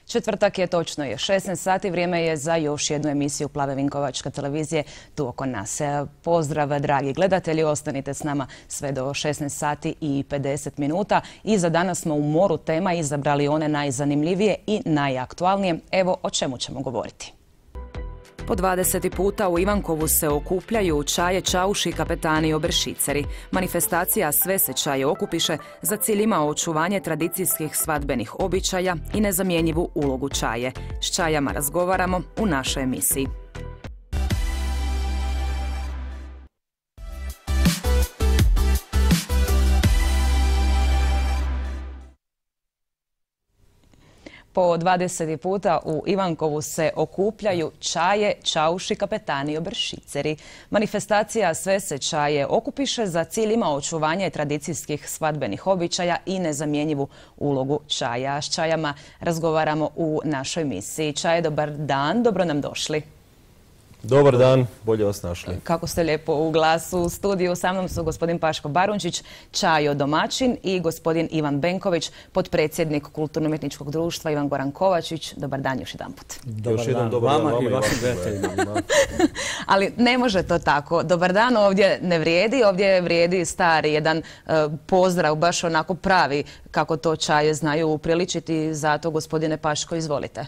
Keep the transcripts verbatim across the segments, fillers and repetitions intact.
Četvrtak je, točno je šesnaest sati, vrijeme je za još jednu emisiju Plave Vinkovačke televizije tu oko nas. Pozdrav, dragi gledatelji, ostanite s nama sve do šesnaest sati i pedeset minuta. I za danas smo u moru tema izabrali one najzanimljivije i najaktualnije. Evo o čemu ćemo govoriti. Po dvadeseti puta u Ivankovu se okupljaju čaje, čauši, kapetani i obršiceri. Manifestacija Sve se čaje okupiše za cilj ima očuvanje tradicijskih svadbenih običaja i nezamjenjivu ulogu čaje. S čajama razgovaramo u našoj emisiji. Po dvadeseti puta u Ivankovu se okupljaju čaje, čauši, kapetani i obršiceri. Manifestacija Sve se čaje okupiše za cilj ima očuvanje tradicijskih svadbenih običaja i nezamjenjivu ulogu čaja. S čajama razgovaramo u našoj emisiji. Čaje, dobar dan, dobro nam došli. Dobar dan, bolje vas našli. Kako ste lijepo u glasu. U studiju sa mnom su gospodin Paško Barunčić, čajo domaćin, i gospodin Ivan Benković, potpredsjednik Kulturno-umjetničkog društva Ivan Goran Kovačić. Dobar dan još jedan put. Dobar još dan vama i vašim gledateljima. Ali ne može to tako. Dobar dan ovdje ne vrijedi, ovdje vrijedi stari jedan uh, pozdrav, baš onako pravi kako to čaje znaju upriličiti. Zato, gospodine Paško, izvolite.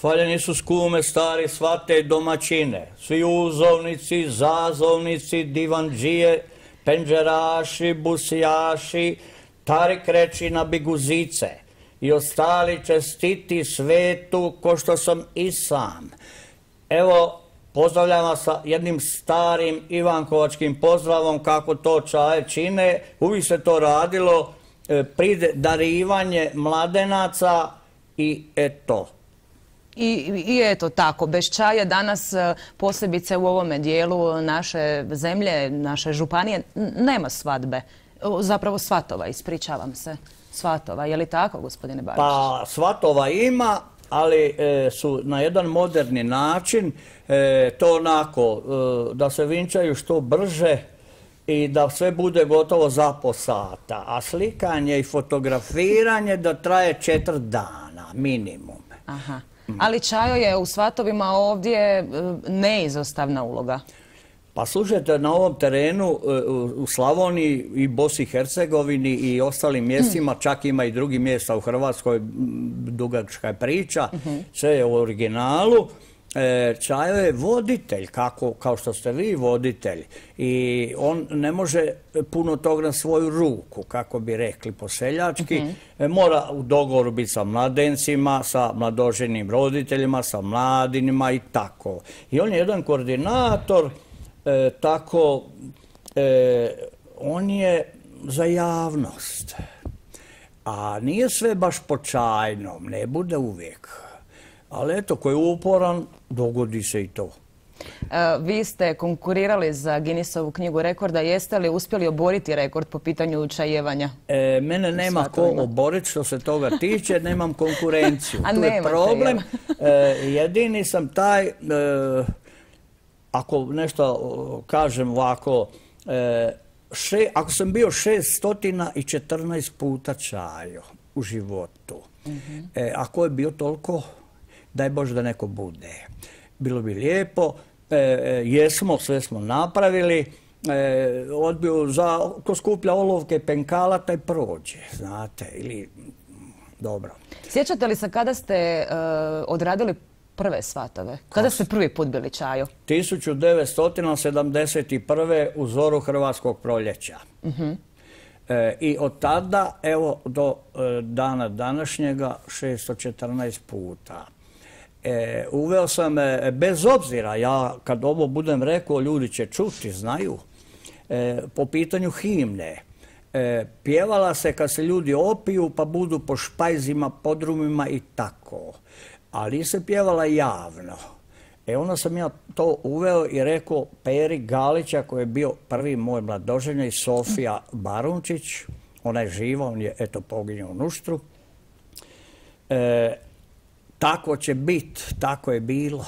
Hvaljeni su skume, stari, svate domaćine, svi uzovnici, zazovnici, divandžije, penđeraši, busijaši, tarik reči na biguzice i ostali čestiti svetu ko što sam i sam. Evo, pozdravljam vas sa jednim starim ivankovačkim pozdravom kako to čaje čine. Uvijek se to radilo, pride darivanje mladenaca i eto. I, I eto tako, bez čaja danas, posebice u ovome dijelu naše zemlje, naše županije, nema svadbe. Zapravo svatova, ispričavam se. Svatova, je li tako, gospodine Barčić? Pa svatova ima, ali e, su na jedan moderni način, e, to onako, e, da se vinčaju što brže i da sve bude gotovo za po sata. A slikanje i fotografiranje da traje četiri dana, minimum. Aha. Ali čajo je u svatovima ovdje neizostavna uloga. Pa slušajte, na ovom terenu u Slavoniji i Bosni i Hercegovini i ostalim mjestima, čak ima i drugih mjesta u Hrvatskoj, dugačka je priča, sve je u originalu. Čajo je voditelj, kako, kao što ste vi voditelj, i on ne može puno toga na svoju ruku, kako bi rekli po seljački. Uh-huh. Mora u dogovoru biti sa mladencima, sa mladoženim roditeljima, sa mladinima i tako. I on je jedan koordinator, e, tako, e, on je za javnost. A nije sve baš po čajnom, ne bude uvijek. Ali eto, ko je uporan, dogodi se i to. E, vi ste konkurirali za Guinnessovu knjigu rekorda. Jeste li uspjeli oboriti rekord po pitanju čajevanja? E, mene nema ko oboriti što se toga tiče, nemam konkurenciju. A tu je problem. E, jedini sam taj, e, ako nešto kažem ovako, e, še, ako sam bio šesto četrnaest puta čajo u životu, uh-huh. e, ako je bio toliko, daj Bože da neko bude. Bilo bi lijepo, e, jesmo, sve smo napravili, e, odbio za, ko skuplja olovke penkala, taj prođe, znate, ili, dobro. Sjećate li se kada ste e, odradili prve svatove? Kada ste prvi put bili čajo? tisuću devetsto sedamdeset prve u zoru Hrvatskog proljeća. Uh-huh. E, I od tada, evo, do e, dana današnjega, šesto četrnaest puta. E, uveo sam, e, bez obzira, ja kad ovo budem rekao, ljudi će čuti, znaju, e, po pitanju himne. E, pjevala se kad se ljudi opiju pa budu po špajzima, podrumima i tako. Ali se pjevala javno. E onda sam ja to uveo i rekao Peri Galića, koji je bio prvi moj mladoženja, i Sofija Barunčić, ona je živa, on je eto poginio u Nuštru. E, tako će biti, tako je bilo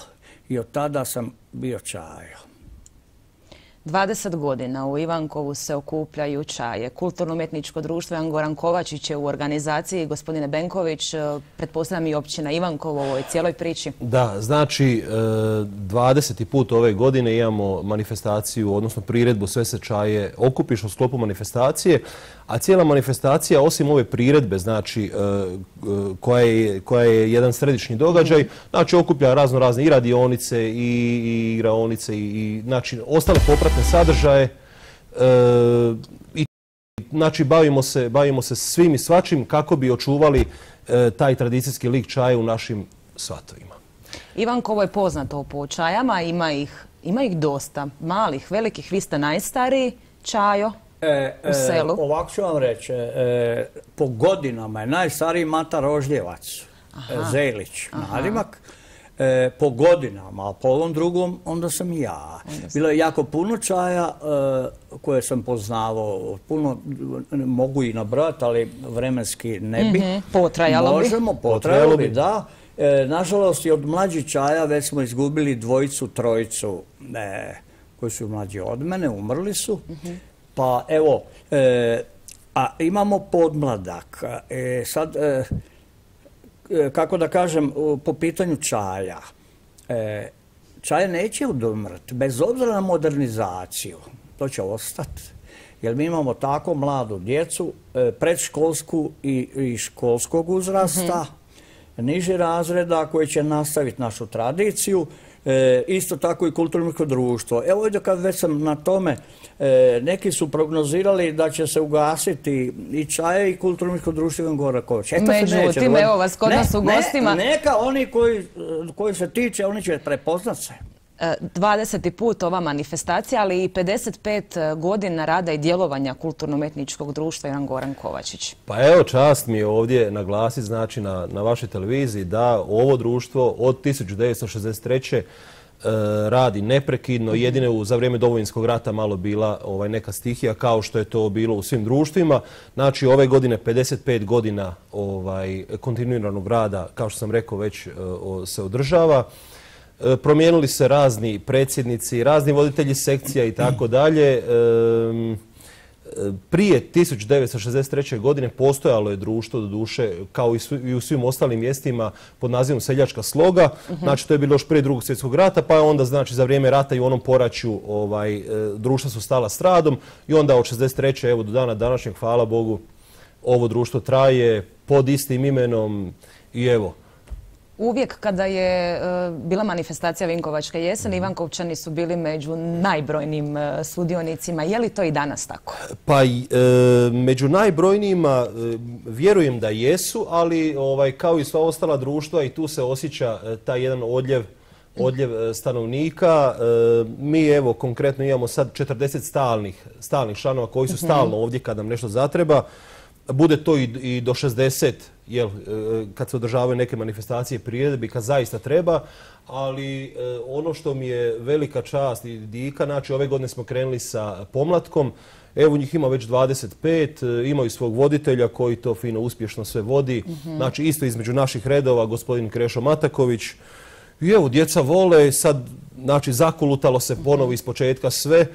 i od tada sam bio čajo. dvadeset godina u Ivankovu se okupljaju čaje. Kulturno-umjetničko društvo Jan Goran Kovačić je u organizaciji. Gospodine Benković, pretpostavljam i općina Ivankovo u ovoj cijeloj priči. Da, znači dvadeseti put ove godine imamo manifestaciju, odnosno priredbu Sve se čaje okupiš u sklopu manifestacije, a cijela manifestacija, osim ove priredbe, znači koja je, koja je jedan središnji događaj, znači okuplja razno razne i radionice i, i igraonice i, i znači ostale popratne sadržaje e, i znači bavimo se, bavimo se svim i svačim kako bi očuvali e, taj tradicijski lik čaja u našim svatovima. Ivankovo je poznato po čajama, ima ih, ima ih dosta, malih, velikih, vi ste najstariji čajo e, u selu. E, ovako ću vam reći, e, po godinama je najstariji Mata Rožljevac, Aha. Zelić, nadimak. E, po godinama, a po ovom drugom onda sam i ja. Bilo je jako puno čaja e, koje sam poznavao, puno mogu i nabrati, ali vremenski ne bi. Mm-hmm. Potrajalo bi. Možemo, potrajalo bi, da. E, nažalost i od mlađih čaja već smo izgubili dvojicu, trojicu e, koji su mlađi od mene, umrli su. Mm-hmm. Pa evo, e, a imamo podmladak. E, sad... E, kako da kažem, po pitanju čaja. E, čaj neće odumrti, bez obzira na modernizaciju. To će ostati. Jer mi imamo tako mladu djecu, e, predškolsku i, i školskog uzrasta, mm-hmm. niži razreda koji će nastaviti našu tradiciju. E, isto tako i kulturno društvo. Evo ovdje kad već sam na tome, e, neki su prognozirali da će se ugasiti i čaje i kulturno društvo Ivan Goran Kovačić. Međutim, evo vas kod nas u gostima. Ne, neka oni koji, koji se tiče, oni će prepoznat se. dvadeseti put ova manifestacija, ali i pedeset pet godina rada i djelovanja kulturno-umjetničkog društva Jan Goran Kovačić. Pa evo, čast mi je ovdje naglasiti, znači na, na vašoj televiziji, da ovo društvo od tisuću devetsto šezdeset treće. E, radi neprekidno. Jedino za vrijeme Domovinskog rata malo bila ovaj, neka stihija, kao što je to bilo u svim društvima. Znači ove godine pedeset pet godina ovaj, kontinuiranog rada, kao što sam rekao, već o, se održava. Promijenili se razni predsjednici, razni voditelji sekcija i tako dalje. Prije tisuću devetsto šezdeset treće. godine postojalo je društvo, do duše, kao i u svim ostalim mjestima, pod nazivom Seljačka sloga. Znači, to je bilo još prije Drugog svjetskog rata, pa je onda, znači, za vrijeme rata i u onom poraću ovaj, društva su stala s radom i onda od šezdeset treće. evo do dana današnjeg, hvala Bogu, ovo društvo traje pod istim imenom i evo. Uvijek kada je uh, bila manifestacija Vinkovačke jeseni, Ivankovčani su bili među najbrojnijim uh, sudionicima. Je li to i danas tako? Pa e, među najbrojnijima e, vjerujem da jesu, ali ovaj, kao i sva ostala društva i tu se osjeća e, taj jedan odljev, odljev e, stanovnika. E, mi evo konkretno imamo sad četrdeset stalnih, stalnih članova koji su stalno ovdje kad nam nešto zatreba. Bude to i, i do šezdeset, jel, kad se održavaju neke manifestacije priredbi, kad zaista treba, ali e, ono što mi je velika čast i dika, znači ove godine smo krenuli sa pomlatkom, evo njih ima već dvadeset pet, imaju svog voditelja koji to fino uspješno sve vodi, mm-hmm. znači isto između naših redova, gospodin Krešo Mataković. I evo, djeca vole, sad, znači, zakulutalo se ponovo iz početka sve. E,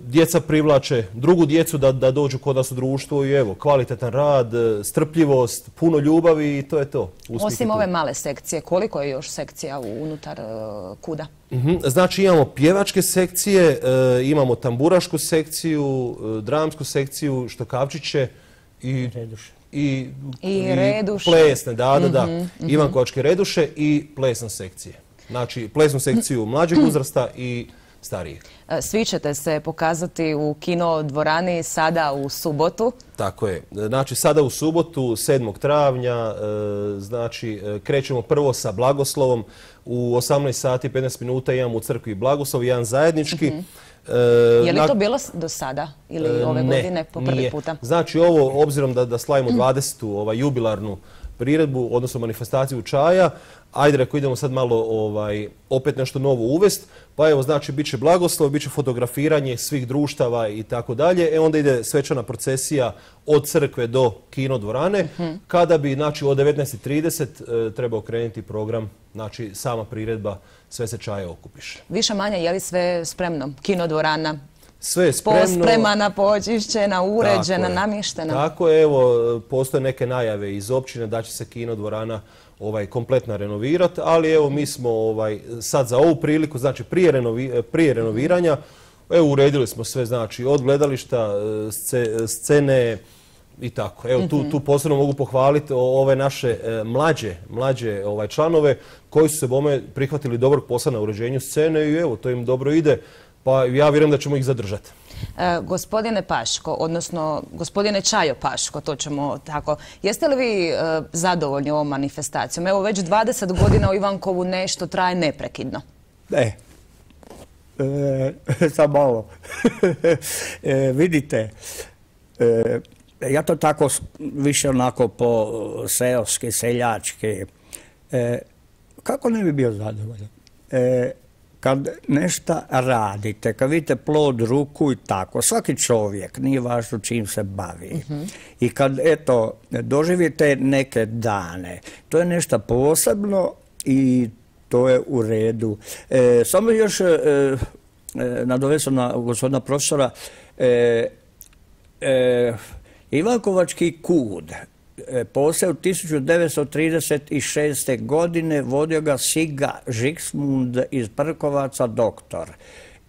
djeca privlače drugu djecu da, da dođu kod nas u društvo i evo, kvalitetan rad, strpljivost, puno ljubavi i to je to. Uspjeh Osim je ove male sekcije, koliko je još sekcija unutar uh, KUD-a? Mm-hmm. Znači imamo pjevačke sekcije, e, imamo tamburašku sekciju, e, dramsku sekciju, štokavčiće i... Reduše. I, I, i reduše. plesne, da, da, da. Mm-hmm, mm-hmm. Ivankovačke reduše i plesne sekcije. Znači, plesnu sekciju mlađeg uzrasta i starijeg. Svi ćete se pokazati u kino dvorani sada u subotu. Tako je. Znači, sada u subotu, sedmog travnja, znači, krećemo prvo sa blagoslovom. U osamnaest sati i petnaest minuta imamo u crkvi blagoslov, jedan zajednički. Mm-hmm. Je li to bilo do sada ili ove ne, godine po prvi nije. puta? Znači ovo, obzirom da, da slavimo dvadesetu ovaj, jubilarnu priredbu, odnosno manifestaciju čaja. Ajde, reko, idemo sad malo ovaj, opet nešto novo uvest. Pa evo, znači, bit će blagoslov, bit će fotografiranje svih društava i tako dalje. E onda ide svečana procesija od crkve do kino dvorane, kada bi, znači, od devetnaest i trideset e, trebao krenuti program, znači, sama priredba Sve se čaje okupiše. Više manje, je li sve spremno? Kino dvorana? Sve je spremno. Pospremana, počišćena, uređena, namještena. Tako je, evo, postoje neke najave iz općine da će se kino dvorana ovaj, kompletno renovirati, ali evo mi smo ovaj, sad za ovu priliku, znači prije, renovi, prije renoviranja, evo uredili smo sve, znači od gledališta, scene i tako. Evo tu, tu posebno mogu pohvaliti ove naše mlađe, mlađe ovaj, članove koji su se bome prihvatili dobrog posla na uređenju scene i evo to im dobro ide. Pa ja vjerujem da ćemo ih zadržati. E, gospodine Paško, odnosno gospodine Čajo Paško, to ćemo tako. Jeste li vi e, zadovoljni ovom manifestacijom? Evo već dvadeset godina u Ivankovu nešto traje neprekidno. Ne. E, sad malo. e, vidite, e, ja to tako više onako po seoski, seljački. E, kako ne bi bio zadovoljan? E, Kad nešto radite, kad vidite plod ruku i tako, svaki čovjek, nije važno čim se bavi. Uh-huh. I kad, eto, doživite neke dane, to je nešto posebno i to je u redu. E, samo još e, e, nadovesom na gospodina profesora, e, e, Ivankovački kud, posao tisuću devetsto trideset šeste. godine vodio ga Siga Žiksmund iz Prkovaca, doktor.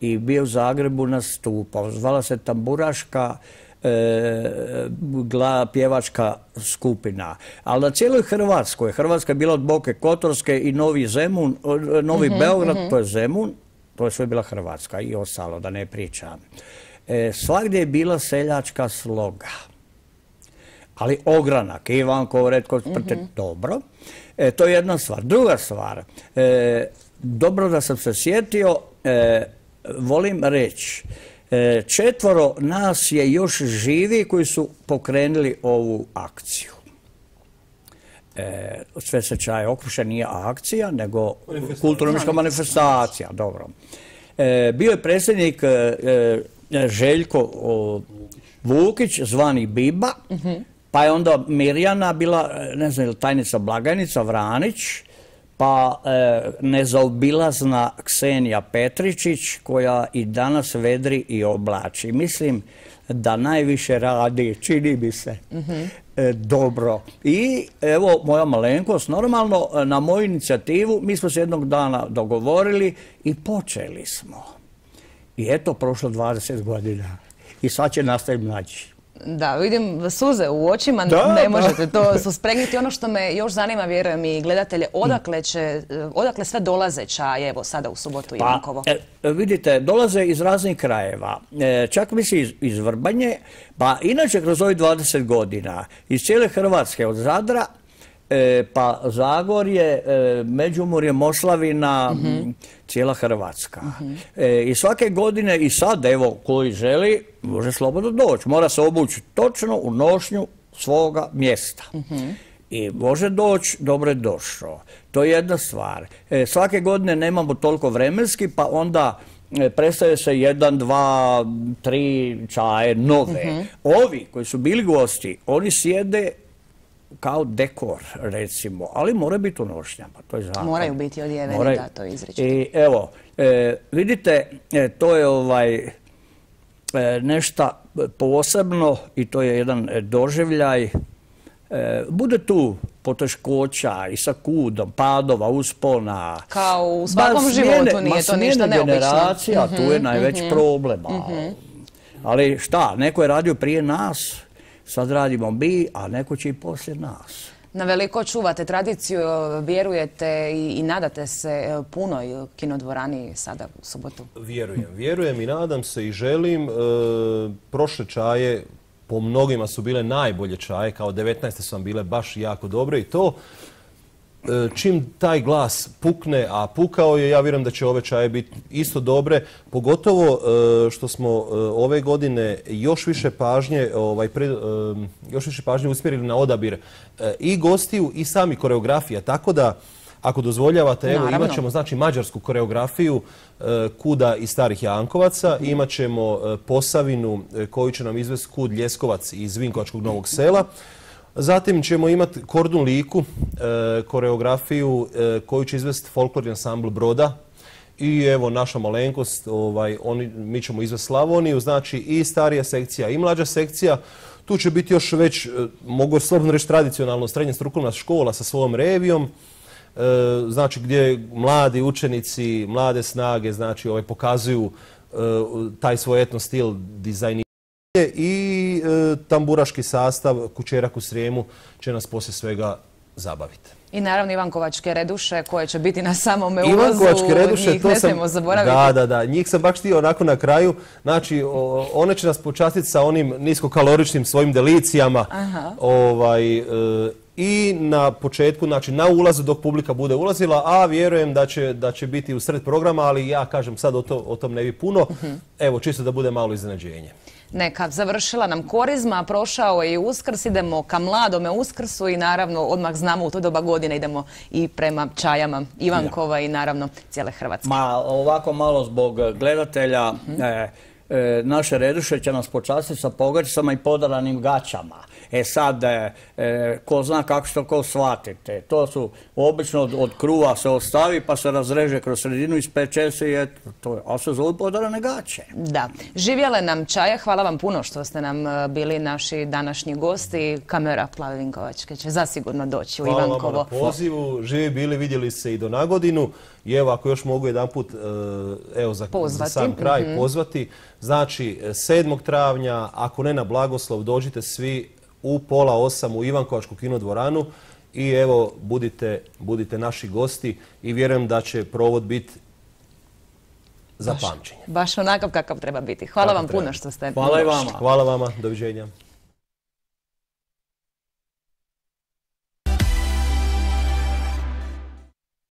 I bio u Zagrebu nastupao. Zvala se Tamburaška e, gla, pjevačka skupina. Ali na cijeloj Hrvatskoj, Hrvatska je bila od Boke Kotorske i Novi Zemun, Novi mm-hmm, Beograd, mm-hmm. to je Zemun, to je sve bila Hrvatska i ostalo, da ne pričam. E, svagdje je bila seljačka sloga. Ali ogranak, Ivankov, Retko, Sprte, mm-hmm. dobro. E, to je jedna stvar. Druga stvar, e, dobro da sam se sjetio, e, volim reći, e, četvoro nas je još živi koji su pokrenuli ovu akciju. E, Sve se čaje okupiše, nije akcija, nego kulturno-umjetnička manifestacija. Dobro. E, bio je predsjednik e, Željko o, Vukić, zvani Biba, mm-hmm. pa je onda Mirjana bila, ne znam, tajnica blagajnica Vranić, pa e, nezaobilazna Ksenija Petričić, koja i danas vedri i oblači. Mislim da najviše radi, čini mi se, mm-hmm. e, dobro. I evo, moja malenkost, normalno, na moju inicijativu, mi smo se jednog dana dogovorili i počeli smo. I eto, prošlo dvadeset godina. I sad će nastaviti mlađi. Da, vidim suze u očima, da, ne možete da. to suspregniti. Ono što me još zanima, vjerujem i gledatelje, odakle, će, odakle sve dolaze čaje, evo sada u subotu pa, Ivankovo? E, vidite, dolaze iz raznih krajeva. E, čak misli iz, iz Vrbanje, pa inače kroz ovih dvadeset godina iz cijele Hrvatske, od Zadra, E, pa Zagorje, e, Međimurje, Moslavina, mm-hmm. cijela Hrvatska. Mm-hmm. E, I svake godine, i sad, evo, koji želi, može slobodno doći. Mora se obući točno u nošnju svoga mjesta. Mm-hmm. I može doći, dobro je došao. To je jedna stvar. E, svake godine nemamo toliko vremenski, pa onda e, predstavlja se jedan, dva, tri čaje nove. Mm-hmm. Ovi koji su bili gosti, oni sjede kao dekor, recimo, ali mora biti u nošnjama, to je zakon. Moraju biti odjeveni, Moraju. da, to izričito. I evo, e, vidite, e, to je ovaj, e, nešto posebno i to je jedan doživljaj. E, bude tu poteškoća i sa kudom, padova, uspona. Kao u svakom ba, smjene, životu nije to ništa neobično. Generacija, mm-hmm, tu je najveći mm-hmm, problem. Mm-hmm. Ali šta, neko je radio prije nas, sad radimo mi, a neko će i poslije nas. Na veliko čuvate tradiciju, vjerujete i, i nadate se punoj kinodvorani sada u subotu? Vjerujem, vjerujem i nadam se i želim. E, prošle čaje po mnogima su bile najbolje čaje, kao devetnaeste su vam bile baš jako dobre i to. čim taj glas pukne, a pukao je, ja vjerujem da će ove čaje biti isto dobre, pogotovo što smo ove godine još više pažnje, ovaj, pre, još više pažnje usmjerili na odabir i gostiju i sami koreografija, tako da ako dozvoljavate, evo, imat ćemo znači mađarsku koreografiju Kuda iz Starih Jankovaca, imat ćemo Posavinu koju će nam izvesti Kud Ljeskovac iz Vinkovačkog Novog Sela. Zatim ćemo imati Kordun Liku, koreografiju koju će izvesti folklorni ansambl Broda. I evo naša malenkost, ovaj, oni, mi ćemo izvesti Slavoniju, znači i starija sekcija i mlađa sekcija. Tu će biti još već, mogu slobodno reći, tradicionalno srednja strukovna škola sa svojom revijom. E, znači gdje mladi učenici, mlade snage, znači ovaj, pokazuju e, taj svoj etno stil dizajniranja i e, tamburaški sastav Kućerak u Srijemu će nas poslije svega zabaviti. I naravno Ivankovačke reduše koje će biti na samome ulazu, Ivankovačke reduše, njih to ne sam, smijemo zaboraviti. Da, da, da, njih sam baš htio onako na kraju. Znači, o, one će nas počastiti sa onim niskokaloričnim svojim delicijama. Aha. Ovaj, e, i na početku, znači na ulazu dok publika bude ulazila, a vjerujem da će, da će biti u sred programa, ali ja kažem sad o, to, o tom ne bi puno. Uh-huh. Evo, čisto da bude malo iznenađenje. Neka, završila nam Korizma, prošao je i Uskrs, idemo ka mladome Uskrsu i naravno odmah znamo u to doba godine idemo i prema čajama Ivankova ja. I naravno cijele Hrvatske. Ma ovako malo zbog gledatelja, uh-huh. e, e, naše reduše će nas počastiti sa pogačicama i podaranim gaćama. E sad, e, e, ko zna kako što ko shvatite. To su obično od, od kruva se ostavi pa se razreže kroz sredinu, ispeče se i eto, to je, ali se zove podarane gaće. Da. Živjele nam čaje, hvala vam puno što ste nam bili naši današnji gosti. Kamera Plave Vinkovačke će zasigurno doći u hvala Ivankovo. Hvala vam na pozivu, živi bili, vidjeli se i do nagodinu. I evo, ako još mogu jedan put, evo, za, za sam kraj mm-hmm. pozvati. Znači, sedmog travnja, ako ne na blagoslov, dođite svi u pola osam u Ivankovačku kinodvoranu i evo, budite, budite naši gosti i vjerujem da će provod biti za pamćenje. Baš onakav kakav treba biti. Hvala vam puno što ste Hvala i vama. Hvala vama, doviđenja.